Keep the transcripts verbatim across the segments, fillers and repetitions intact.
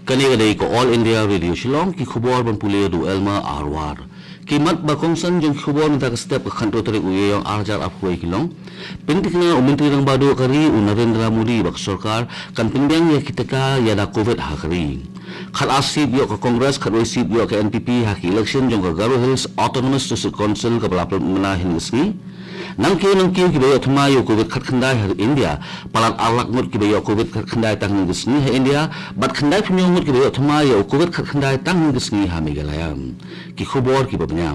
Kane ka dei ka All India Radio Shillong, ki khubor ban pule da u Elma Arwar. Ki mat ba kongsan jong ki khubor mynta ka step ka khatar tarik u Ïaïong arhajar arphew wei ki long. Pynthikna u Myntri Rangbah Duh ka ri u Narendra Modi ba ka sorkar kan pynbiang ïa ki tika ïada Covid ha ka ri. Khatar seat ïoh ka Congress, khatwei seat ïoh ka N P P ha ki election jong ka Garo Hills Autonomous District Council kaba la pynmynta hynnin ka sngi. Nangkiew nangkiew kiba ïoh thymmai ïa u Covid khatkhyndai ha India, palat ar lak ngut kiba ïoh Covid khatkhyndai tang hynnin ka sngi ha India, bad khyndai phew hynñiew ngut kiba ïoh thymmai ïa u Covid khatkhyndai tang hynnin ka sngi ha Meghalaya. Ki khubor kiba bniah.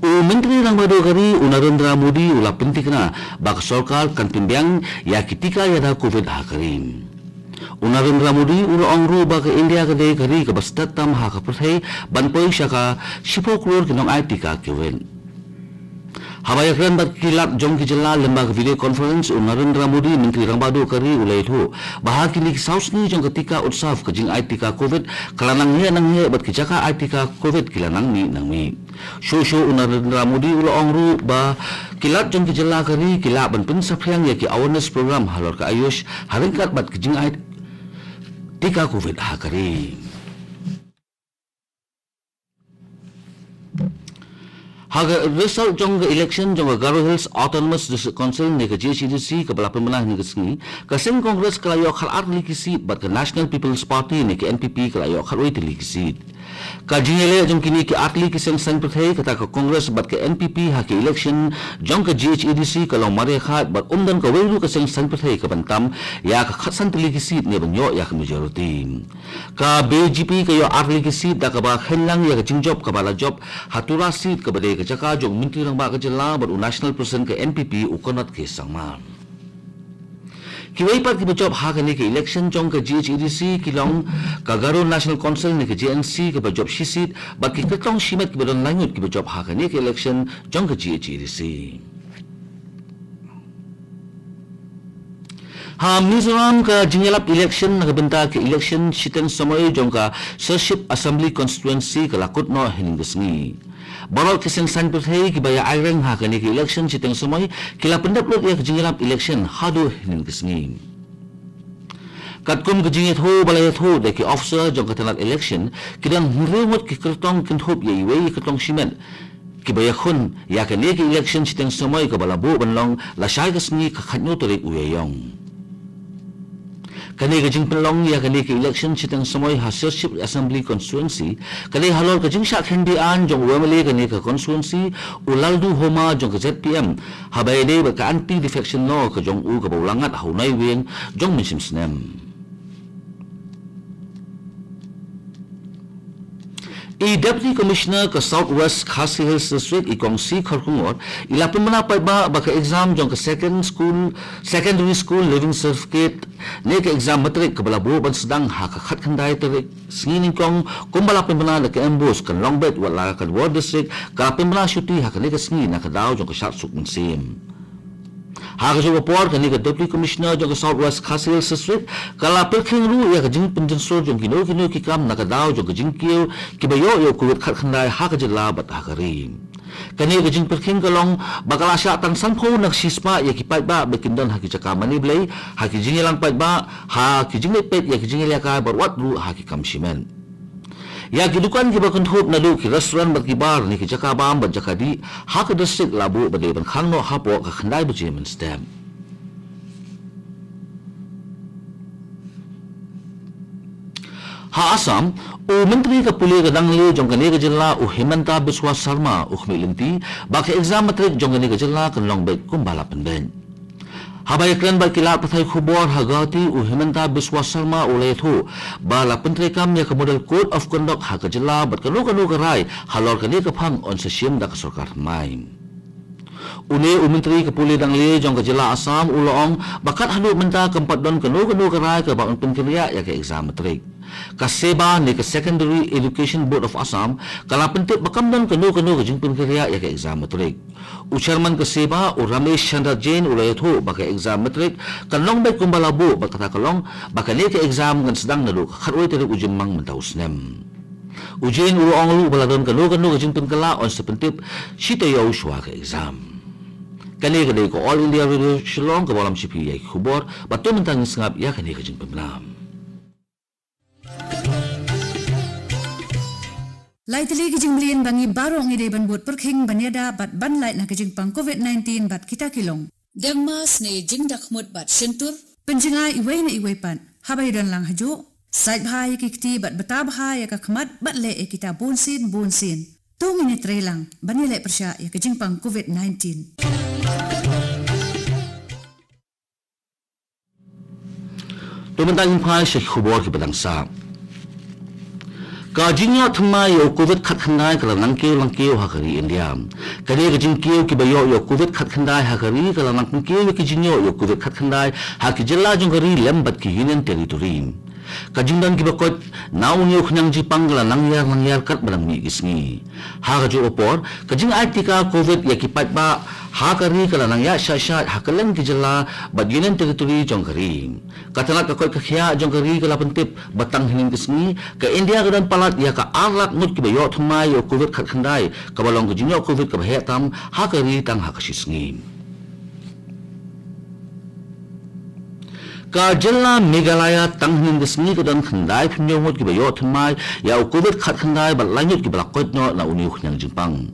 U Myntri Rangbah Duh ka ri u Narendra Modi u la pynthikna ba ka sorkar kan pynbiang ïa ki tika ïada Covid ha ka ri. U Narendra Modi u la ong ruh ba ka India ka dei ka ri kaba stet tam ha ka pyrthei ban poi sha ka shiphew klur ki nongai tika Covid. Haba ïakren bad ki lad jong ki jylla lyngba ka video conference, u Narendra Modi, Myntri Rangbah Duh ka ri, u la ïathuh ba ha kine ki saw sngi jong ka Tika Utsav, ka jingai tika Covid ka la nang heh nang heh bad ki jaka ai tika Covid ki la nang mih nang mih. Shuh shuh u Narendra Modi u la ong ruh ba ki lad jong ki jylla ka ri ki lah ban pynsaphriang ïa ki awareness program halor ka AYUSH ha ryngkat bad ki jingai tika Covid ha ka ri. Ha ka result jong ka election jong ka Garo Hills Autonomous District Council ne ka G H A D C kaba la pynmynta hynnin ka sngi, ka seng Congress ka la ïoh khatar tylli ki seat bad ka National People's Party ne ka N P P ka la ïoh khatwei tylli ki seat. Ka jingïaleh jong kine ki artylli ki seng saiñ pyrthei, kata ka Congress bad ka N P P ha ka election jong ka G H A D C ka long mar ïa khaid bad ym don kawei ruh ka seng saiñ pyrthei kaban tam ïa ka khatsan tylli ki seat ne ban ïoh ïa ka majority. Ka B J P ka ïoh artylli ki seat da kaba kheiñ lang ïa ka jingjop kaba la jop ha Tura seat kaba dei ka jaka jong u Myntri Rangbah ka jylla bad u National President ka N P P u Conrad K Sangma. Kiwei pat kiba jop ha kane ka election jong ka G H A D C ki long ka Garo National Council ne ka G N C kaba jop shi seat bad ki kyrtong shimet kiba don lai ngut kiba jop ha kane ka election jong ka G H A D C. Ha Mizoram, ka jingïalap election na ka bynta ka election shiteng samoi jong ka Serchhip Assembly Constituency ka la kut noh hynnin ka sngi. Baroh ki seng saiñ pyrthei kiba ïa aireng ha kane ka election shiteng samoi ki la pyndep lut ïa ka jingïalap election haduh hynnin ka sngi. Katkum ka jingïathuh ba la ïathuh da ki officer jong ka tnat election, ki don hynriew ngut ki kyrtong kynthup ïa iwei i kyrtong shimet kiba ïakhun ïa kane ka election shiteng samoi kaba la buh ban long lashai ka sngi ka khathynñiew tarik u Ïaïong. Kane ka jingpynlong ïa kane ka election shiteng samoi ha Serchhip Assembly Constituency ka dei halor ka jingshah kheiñ beaiñ jong u M L A kane ka constituency, u Lalduhoma jong ka Z P M, haba ïadei bad ka Anti Defection Law ka jong u kaba u la ngat ha u Naiwieng jong u mynshem snem. I Deputy Commissioner ka South West Khasi Hills District, i Kong C Kharkongor, i la pynbna paidbah ba ka exam jong ka Second School, Secondary School Leaving Certificate ne ka exam matric kaba la buh ban sdang ha ka khatkhyndai tarik sngi nyngkong kumba la pynbna da ka MBOSE kan long beit, wat la ka Nongpoh District ka la pynbna shuti ha kane ka sngi na ka daw jong ka shad suk mynsiem. Ha kajuh ka por, kane ka Deputy Commissioner jong ka South West Khasi Hills District ka la pyrkhing ruh ïa ka jingpynjynjar jong kino kino ki kam na ka daw jong ka jingkiew kiba ïoh ïa u Covid khatkhyndai ha ka jylla bad ha ka ri. Kane ka jingpyrkhing ka long ba ka la shah tang sanphew na ka shispah ïa ki paidbah ba kin don ha ki jaka mane blei, ha ki jingïalang paidbah, ha ki jingleit peit ïa ki jingïalehkai bad wat ruh ha ki kam shimet. Ïa ki dukan kiba kynthup naduh ki restaurant bad ki bar ne ki jaka bam bad jaka dih ha ka district la buh ba dei ban khang noh hapoh ka khyndai baje mynstep. Ha Assam, u Myntri ka pule ka danglieh jong kane ka jylla u Himanta Biswa Sarma u khmih lynti ba ka exam matric jong kane ka jylla kan long beit kumba la pynbeit. Haba ïakren bad ki lad pathai khubor ha Guwahati, u Himanta Biswa Sarma u la ïathuh ba la pyntreikam ïa ka Model Code of Conduct ha ka jylla bad kano kano ka rai halor kane ka phang yn sa shim da ka sorkar thymmai. Une u Myntri ka pule danglieh jong ka jylla Assam u la ong ba kat haduh mynta kam pat don kano kano ka rai kaba yn pynkynriah ïa ka exam matric. Ka SEBA ne ka Secondary Education Board of Assam ka la pyntip ba kam don kano kano ka jingpynkynriah ïa ka exam matric. U Chairman ka SEBA, u Ramesh Chandra Jain, u la ïathuh ba ka exam matric kan long beit kumba la buh bad kata ka long ba kane ka exam kan sdang naduh ka khatwei tarik u Jymmang mynta u snem. U Jain u la ong ruh ba la don kano kano ka jingpynkylla yn sa pyntip shi taïew shuwa ka exam. Kane ka dei ka All India Radio Shillong kaba lam sha phi ïa ki khubor, bad to mynta ngin sngap ïa kane ka jingpynbna. Lai tylli ki jingmlien ba ngi baroh ngi dei ban bud pyrkhing ban ïada bad ban lait na ka jingpang covid nineteen bad kita ki long: dem, mask ne jingdakhmut bad shyntur, pynjngai iwei na iwei pat haba ïadon lang hajuh, sait bha ïa ki kti bad bta bha ïa ka khmat bad leh ïa kita bunsien bunsien. To ngin ïatreilang ban ïaleh pyrshah ïa ka jingpang covid nineteen. To mynta ngin phai sha ki khubor kiba dang sah. Ka jingïoh thymmai ïa u covid khatkhyndai ka la nang kiew lang kiew ha ka ri India. Kane ka jingkiew kiba ïoh ïa u covid khatkhyndai ha ka ri ka la nang pynkiew ïa ka jingïoh ïa u covid khatkhyndai ha ki jylla jong ka ri lem bad ki Union Territory. Ka jingdon kiba koit na une u khñiang jingpang ka la nang ïar nang ïar katba nang mih ki sngi. Ha kajuh ka por, ka jingai tika covid ïa ki paidbah ha ka ri ka la nang ïaid shai shai ha kylleng ki jylla bad Union Territory jong ka ri. Ka tnat ka koit ka khiah jong ka ri ka la pyntip ba tang hynnin ka sngi ka India ka don palat ïa ka ar lak ngut kiba ïoh thymmai ïa u covid khatkhyndai, kaba long ka jingïoh covid kaba heh tam ha ka ri tang ha ka shi sngi. Ka jylla Meghalaya tang hynnin ka sngi ka don khyndai phew hynñiew ngut kiba ïoh thymmai ïa u covid khatkhyndai bad lai ngut kiba la koit noh na une u khñiang jingpang.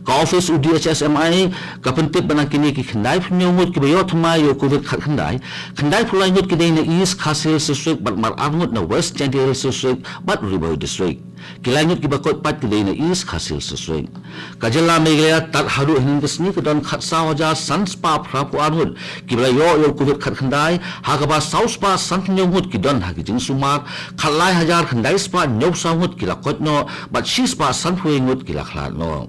Ka office u D H S M I ka pyntip ba na kine ki khyndai phew hynñiew ngut kiba ïoh thymmai ïa u covid khatkhyndai, khyndai phew lai ngut ki dei na East Khasi Hills District bad mar ar ngut na West Jaintia Hills District bad Ri Bhoi District. Ki lai ngut kiba koit pat ki dei na East Khasi Hills District. Ka jylla Meghalaya tad haduh hynnin ka sngi ka don khatsaw hajar san spah phra phew ar ngut kiba la ïoh ïa u covid khatkhyndai, ha kaba saw spah san phew hynñiew ngut ki don ha ki jingsumar, khatlai hajar khyndai spah hynñiew saw ngut ki la koit noh bad shi spah san phew wei ngut ki la khlad noh.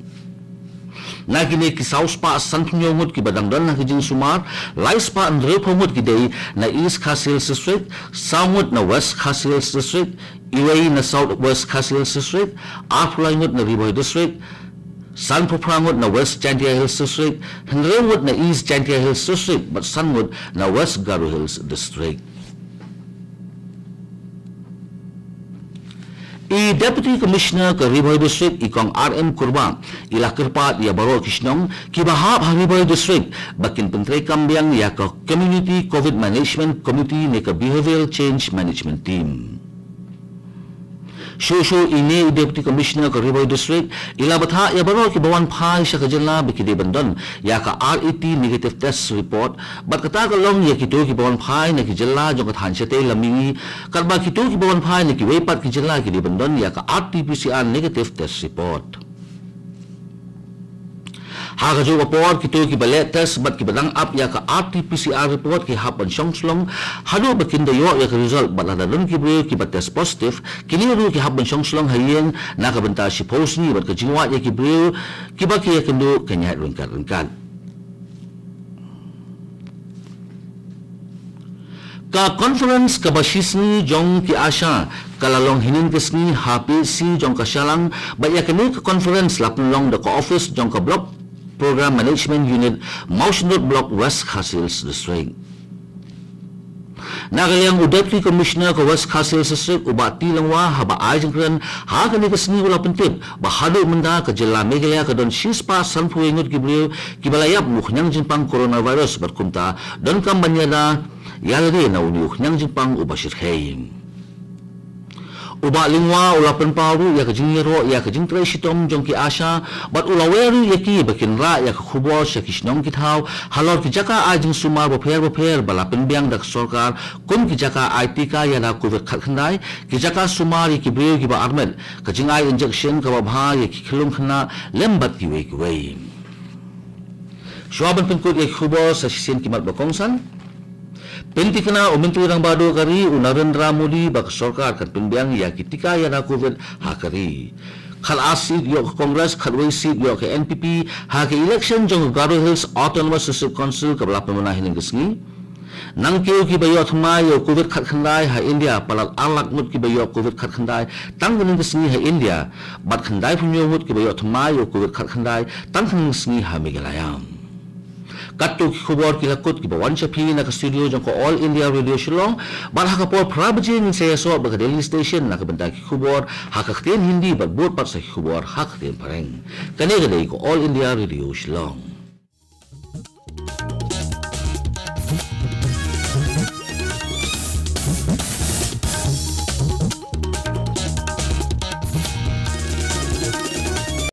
Na kine ki saw spah san phew hynñiew ngut kiba dang don ha ki jingsumar, lai spah hynriew phew ngut ki dei na East Khasi Hills District, saw ngut na West Khasi Hills District, iwei na South West Khasi Hills District, ar phew lai ngut na Ri Bhoi District, san phew phra ngut na West Jaintia Hills District, hynriew ngut na East Jaintia Hills District bad san ngut na West Garo Hills District. I Deputy Commissioner ka Ri Bhoi District, i Kong R M Kurbah, i la kyrpad ïa baroh ki shnong kiba hap ha Ri Bhoi District ba kin pyntreikam biang ïa ka Community Covid Management Committee ne ka Behavioral Change Management Team. Shuh shuh ine i Deputy Commissioner ka Ri Bhoi District i la bthah ïa baroh kiba wan phai sha ka jylla ba ki dei ban don ïa ka R A T negative test report, bad kata ka long ïa kito kiba wan phai na ki jylla jong ka thaiñ shatei lam mihngi, katba kito kiba wan phai na kiwei pat ki jylla ki dei ban don ïa ka R T P C R negative test report. Ha kajuh ka por, kito kiba leh test bad kiba dang ap ïa ka R T P C R report ki hap ban shong shlong haduh ba kin da ïoh ïa ka result, bad lada don ki briew kiba test positive, kine ruh ki hap ban shong shlong ha ïing na ka bynta shiphew sngi, bad ka jingwad ïa ki briew kiba ki ïakynduh kan ïaid ryngkat ryngkat. Ka conference kaba shisngi jong ki ASHA ka la long hynnin ka sngi ha P H C jong ka Shillong, bad ïa kane ka conference la pynlong da ka office jong ka Block Program Management Unit, Mawshynrut Block, West Khasi Hills District. Na ka liang u Deputy Commissioner ka West Khasi Hills District, u Bah T Lyngwa, haba ai jingkren ha kane ka sngi u la pyntip ba haduh mynta ka jylla Meghalaya ka don shispah sanphew wei ngut ki briew kiba la ïap u khñiang jingpang coronavirus, bad kumta donkam ban ïada ïa lade na une u khñiang jingpang uba shyrkhei. U Bah Lyngwa u la pynpaw ruh ïa ka jingïaroh ïa ka jingtrei shitom jong ki ASHA, bad u la wer ruh ïa ki ba kin rah ïa ka khubor sha ki shnong ki thaw halor ki jaka ai jingsumar bapher bapher ba la pynbiang da ka sorkar, kum ki jaka ai tika ïada covid khatkhyndai, ki jaka sumar ïa ki briew kiba armet, ka jingai injection kaba bha ïa ki khyllung khynnah lem bad kiwei kiwei. Shuwa ban pynkut ïa ki khubor, sa shisien ki mat ba kongsan. Pynthikna u Myntri Rangbah Duh ka ri u Narendra Modi ba ka sorkar kan pynbiang ïa ki tika ïada covid ha ka ri. Khatar seat ïoh ka Congress, khatwei seat ïoh ka N P P ha ka election jong ka Garo Hills Autonomous District Council kaba la pynbna hynnin ka sngi. Nangkiew kiba ïoh thymmai ïa u covid khatkhyndai ha India, palat ar lak ngut kiba ïoh covid khatkhyndai tang hynnin ka sngi ha India, bad khyndaiphew hynñiew ngut kiba ïoh thymmai ïa u covid khatkhyndai tang hynnin ka sngi ha Meghalaya. Katto ki khubor ki la kut kiba wan sha phi na ka studio jong ka All India Radio Shillong, bad ha ka por phra baje ngin sa ïasoh bad ka Delhi Station na ka bynta ki khubor ha ka ktien Hindi, bad bud pat sa ki khubor ha ka ktien Phareng. Kane ka dei ka All India Radio Shillong.